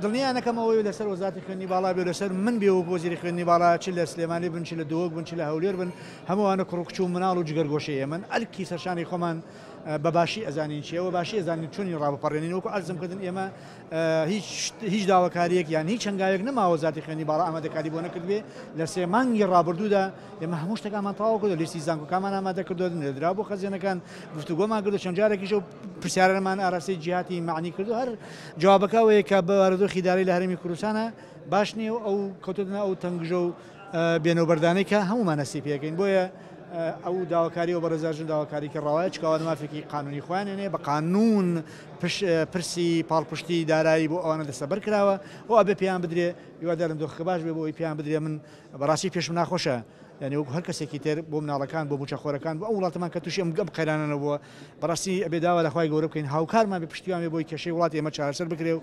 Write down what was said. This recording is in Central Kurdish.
دڵنیا نەکەم ئەوەی لەسەر وەزارەتی خوێندنی باڵا بێ و لەسەر من بێ وەک وەزیری خوێندنی باڵا چ لە سلێمانی بن چ لە دهۆک بن چ لە هەولێر بن هەموو ئەوانە کوڕ و کچ و مناڵ و جگەرگۆشەی ئێمەن ئەرکی سەرشانی خۆمان بە باشی ئەزانین چیە و باشی ئەزانین چۆنی ڕابپەڕێنین وەکو عەرزم کردن ئێمە هیچ هیچ داواکاریەک یان هیچ هەنگاوێک نەماوە وەزارەتی خوێندنی باڵا ئامادەکاری بۆ نەکردبێ لە سێ مانگی ڕابردوودا ئێمە هەموو شتەکانمان تەواو کردو لیستی زانکۆکانمان ئامادە کردو نێردرا بۆ خەزێنەکان گفتوگۆمان کردو چەند جارێکیش ئەو پرسیارانەمان ئاراستەی جیهاتی مەعنی کردو هەر جوابەکە ئەوەیە کە بارودۆخی دارایی لە هەرێمی کوردستانە باش نییە و ئەو کەوتۆتە ئەو تەنگژە و بێنەوبەردانەی کە هەموومان هەستی پێکەین بۆیە ئەو داواکاری و بەڕێزاژن داواکاری کە ڕەوایە چکاوان مافێکی قانونی خۆیان هێنێ بە قانون پرسی پاڵپشتی دارایی بۆ ئەوانە دەستەبەر کراوە و ئەبێ پێیان بدرێ. هیوادارم دۆخەکە باش بێ بۆ ئەوەی پێیان بدرێ. من بەڕاستی پێشم ناخۆشە یانی وەکو هەر کەسێکی تر بۆ مناڵەکان بۆ موچەخۆرەکان بۆ ئەو وڵاتەمان کە تووشی ئەم گەم قەیرانە نەبووە بەڕاستی ئەبێ داوا لە خوای گەورە بکەین هاوکارمان بێ پشتیوان بێ بۆی کێشەی وڵاتی ئێمە چارەسەر بکرێ و.